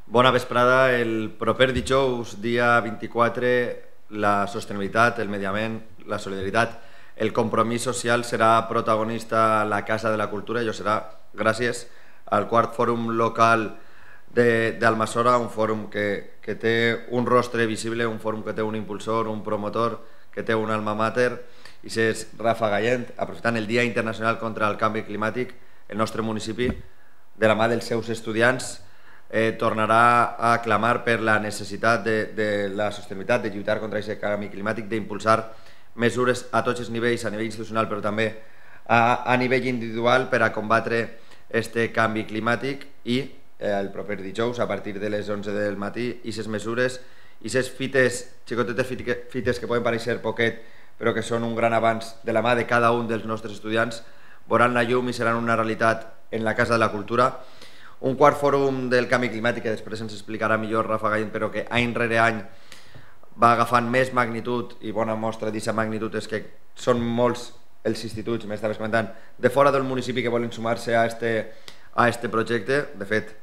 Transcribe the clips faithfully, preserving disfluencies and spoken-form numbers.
Bona vesprada. El proper dijous, dia vint-i-quatre, la sostenibilitat, el medi ambient, la solidaritat, el compromís social serà protagonista a la Casa de la Cultura i ho serà gràcies al quart fòrum local d'Almassora, un fòrum que, que té un rostre visible, un fòrum que té un impulsor, un promotor, que té un alma mater, i és Rafa Gallent. Aprofitant el Dia Internacional contra el Canvi Climàtic, el nostre municipi, de la mà dels seus estudiants, eh, tornarà a clamar per la necessitat de, de la sostenibilitat, de lluitar contra aquest canvi climàtic, d'impulsar mesures a tots els nivells, a nivell institucional però també a, a nivell individual per a combatre aquest canvi climàtic. I eh, el proper dijous, a partir de les onze del matí, aquestes mesures, aquestes fites, xicotetes fites que poden parèixer poquet però que són un gran avanç de la mà de cada un dels nostres estudiants, veuran la llum i seran una realitat en la Casa de la Cultura. Un quart fòrum del canvi climàtic que després ens explicarà millor Rafa Gallent, però que any rere any va agafant més magnitud, i bona mostra d'aquesta magnitud és que són molts els instituts, m'estaves comentant, de fora del municipi que volen sumar-se a este, a este projecte. De fet,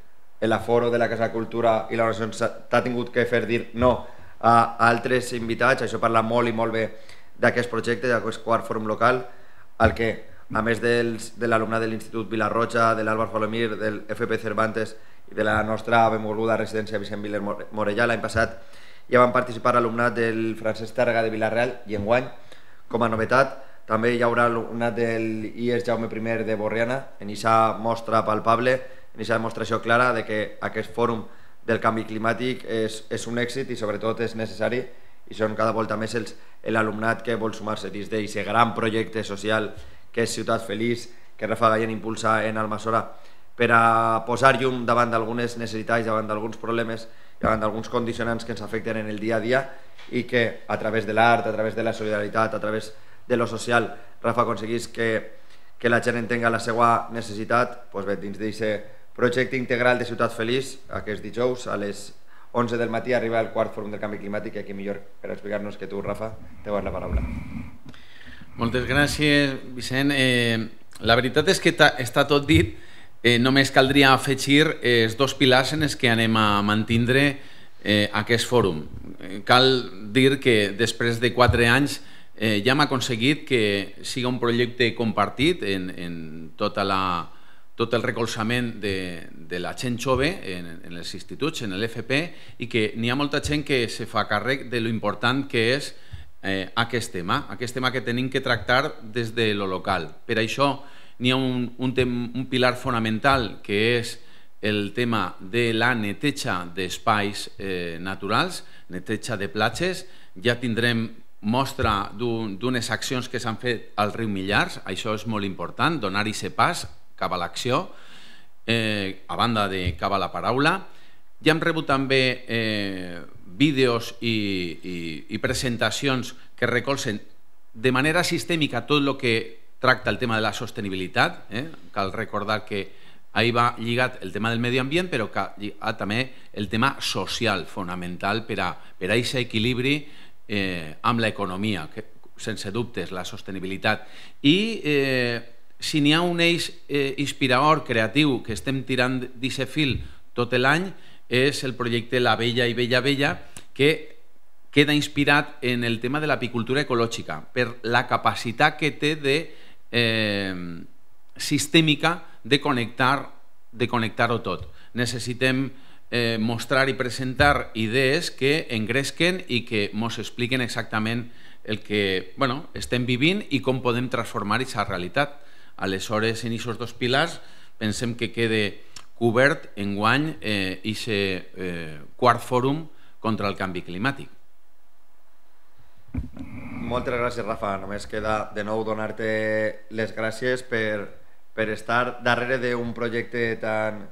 l'aforo de la Casa de la Cultura i la organització t'ha tingut que fer dir no a altres invitats. Això parla molt i molt bé d'aquest projecte, d'aquest quart fòrum local, al que, a més dels, de l'alumnat de l'Institut Vilarroja, de l'Àlvar Folomir, del F P Cervantes i de la nostra benvolguda residència Vicent Viler Morellà, l'any passat ja van participar alumnat del Francesc Tàrrega de Vilareal, i enguany, com a novetat, també hi haurà alumnat del I E S Jaume primer de Borriana, en aquesta mostra palpable, en aquesta demostració clara de que aquest fòrum del canvi climàtic és, és un èxit i sobretot és necessari, i són cada volta més l'alumnat que vol sumar-se dins d'aquest gran projecte social que és Ciutat Feliç, que Rafa Gallent impulsa en Almassora per a posar llum davant d'algunes necessitats, davant d'alguns problemes, davant d'alguns condicionants que ens afecten en el dia a dia, i que a través de l'art, a través de la solidaritat, a través de lo social, Rafa aconseguís que, que la gent entenga la seva necessitat. Doncs bé, dins d'aquest projecte integral de Ciutat Feliç, aquest dijous a les onze del matí arriba el quart fòrum del canvi climàtic, i aquí millor per explicar-nos que tu, Rafa, te vas la paraula. Moltes gràcies, Vicent. Eh, la veritat és que està tot dit, eh, només caldria afegir els dos pilars en els que anem a mantindre eh, aquest fòrum. Eh, cal dir que després de quatre anys eh, ja hem aconseguit que siga un projecte compartit en, en tota la, tot el recolzament de, de la gent jove en, en els instituts, en l'F P, i que n'hi ha molta gent que se fa càrrec de lo important que és Eh, aquest tema, aquest tema que tenim que tractar des de lo local. Per això n'hi ha un, un, tem, un pilar fonamental que és el tema de la neteja d'espais eh, naturals, neteja de platges. Ja tindrem mostra d'unes accions que s'han fet al riu Millars, això és molt important, donar-hi se pas cap a l'acció, eh, a banda de cap a la paraula. Ja hem rebut també eh, vídeos i, i, i presentacions que recolzen de manera sistèmica tot el que tracta el tema de la sostenibilitat. Eh? Cal recordar que ahí va lligat el tema del medi ambient, però que ha també el tema social fonamental per a per a aquest equilibri eh, amb l'economia, sense dubtes, la sostenibilitat. I eh, si n'hi ha un eix eh, inspirador, creatiu, que estem tirant d'aquest fil tot l'any, és el projecte La Bella i Bella Bella, que queda inspirat en el tema de l'apicultura ecològica, per la capacitat que té de eh, sistèmica de connectar de connectar-ho tot. Necessitem eh, mostrar i presentar idees que engresquen i que ens expliquen exactament el que bueno, estem vivint i com podem transformar aquesta realitat. Aleshores, en aquests dos pilars, pensem que quede cobert enguany aquest eh, eh, quart fòrum contra el canvi climàtic. Moltes gràcies, Rafa. Només queda de nou donar-te les gràcies per, per estar darrere d'un projecte tan,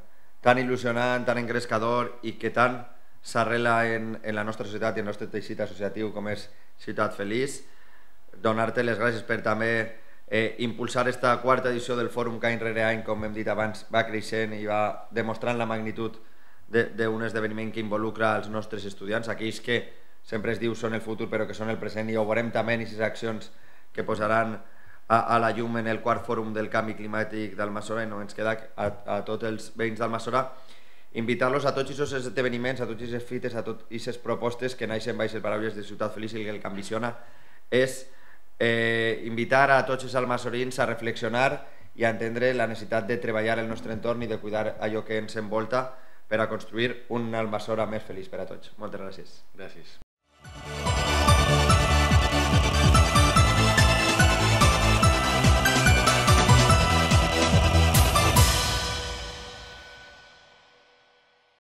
tan il·lusionant, tan engrescador i que tant s'arrela en, en la nostra societat i en el nostre teixit associatiu com és Ciutat Feliç. Donar-te les gràcies per també Eh, impulsar aquesta quarta edició del fòrum que any rere any, com hem dit abans, va creixent i va demostrant la magnitud d'un esdeveniment que involucra els nostres estudiants, aquells que sempre es diu són el futur però que són el present, i ho veurem també en aquestes accions que posaran a, a la llum en el quart fòrum del canvi climàtic d'Almassora. I no ens queda a, a tots els veïns d'Almassora invitar-los a tots aquests esdeveniments, a tots aquestes fites, a totes aquestes propostes que naixen baix les paraules de Ciutat Feliç, i el que ambiciona és eh, invitar a tots els almassorins a reflexionar i a entendre la necessitat de treballar el nostre entorn i de cuidar allò que ens envolta per a construir un Almassora més feliç per a tots. Moltes gràcies. Gràcies.